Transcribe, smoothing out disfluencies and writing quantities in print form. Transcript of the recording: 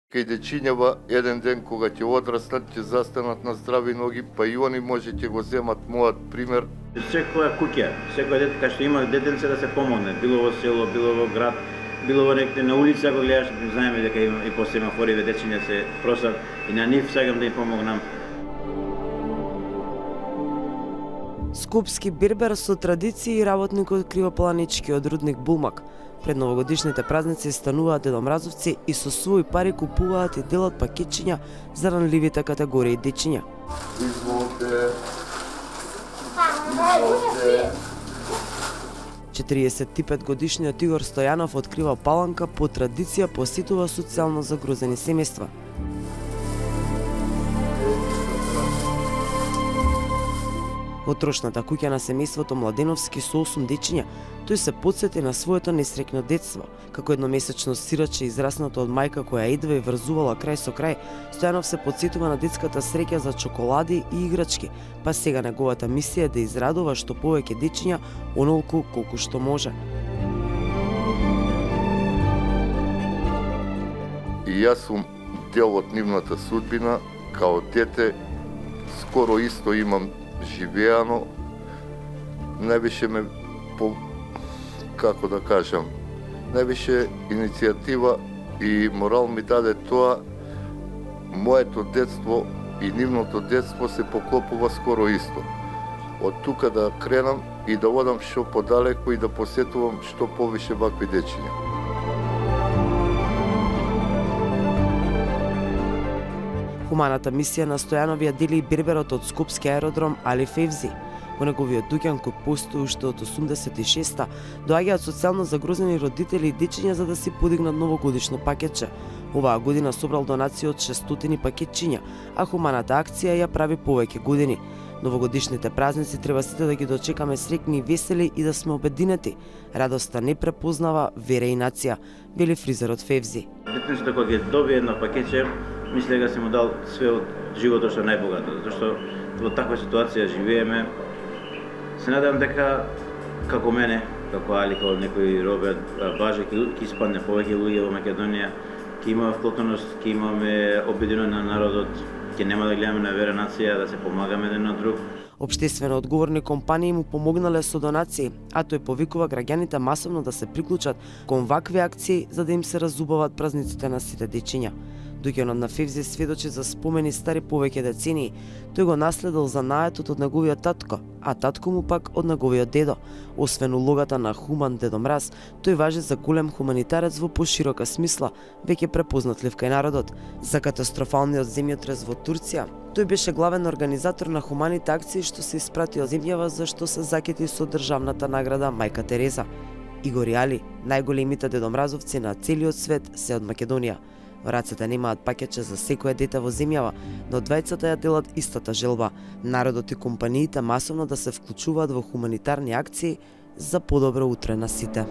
Кај дечињава еден ден кога ќе одрастат, ќе застанат на здрави ноги, па и они може ќе го земат мојот пример. Секоја куќа, секој дете кај што има детенце да се помогне, било во село, било во град, било во некој на улица, ако гледаш, знаеме дека има и по семафориве дечиња се просат и на нив сакам да им помогнам. Скопски бербер со традиции и работник од Кривопланичкиот рудник Булмак. Пред новогодишните празници стануваат дедомразовци и со своји пари купуваат и делат пакетчиња за ранливите категории дечиња. Изволте. 45-годишниот Игор Стојанов од Крива Паланка по традиција посетува социјално загрозени семејства. Во трошната куќа на семејството Младеновски со 8 дечиња, тој се потсети на своето несреќно детство. Како едномесечно сираче израснато од мајка која едва и врзувала крај со крај, Стојанов се потсетува на детската среќа за чоколади и играчки, па сега неговата мисија е да израдува што повеќе дечиња онолку колку што може. И јас сум дел од нивната судбина, као дете, скоро исто имам живеано, највише ме како да кажам, највише иницијатива и морал ми даде тоа, моето детство и нивното детство се поклопува скоро исто. Од тука да кренам и да одам што подалеку и да посетувам што повише вакви дечиња. Хуманата мисија на Стојанов ја дели и берберот од Скопски аеродром Али Февзи. Во неговиот дуќан кој постои уште од 86-та, доаѓаат социјално загрозени родители и дечиња за да си подигнат новогодишно пакетче. Оваа година собрал донации од 600 пакетчиња, а хуманата акција ја прави повеќе години. Новогодишните празници треба сите да ги дочекаме среќни и весели и да сме обединети. Радоста не препознава вера и нација, вели фризерот Февзи. Детенцето кога ќе добие едно пакетче, мисле дека си му дал све од животот што најбогато, зашто во таква ситуација живееме. Се надевам дека како мене, како Али, како некој Роберт Баже, ќе испадне повеќе луѓе во Македонија, ќе имаме вклопеност, ќе имаме обединување на народот, ќе нема да гледаме на вера нација, да се помагаме еден на друг. Општествено одговорни компании му помогнале со донации, а тој повикува граѓаните масовно да се приклучат кон вакви акции за да им се разубават празниците на сите дечиња. Дуќанот на Февзи сведочи за спомени стари повеќе децении. Тој го наследил занаетот од неговиот татко, а татко му пак од неговиот дедо. Освен улогата на хуман дедомраз, тој важи за голем хуманитарец во поширока смисла, веќе препознатлив кај народот. За катастрофалниот земјотрес во Турција, тој беше главен организатор на хуманите акции што се испратио земјава за што се закети со државната награда Мајка Тереза. Игор и Али, најголемите дедомразовци на целиот свет, се од Македонија. Во рацете немаат пакетче за секое дете во земјава, но двајцата ја делат истата желба. Народот и компаниите масовно да се вклучуваат во хуманитарни акции за подобро утре на сите.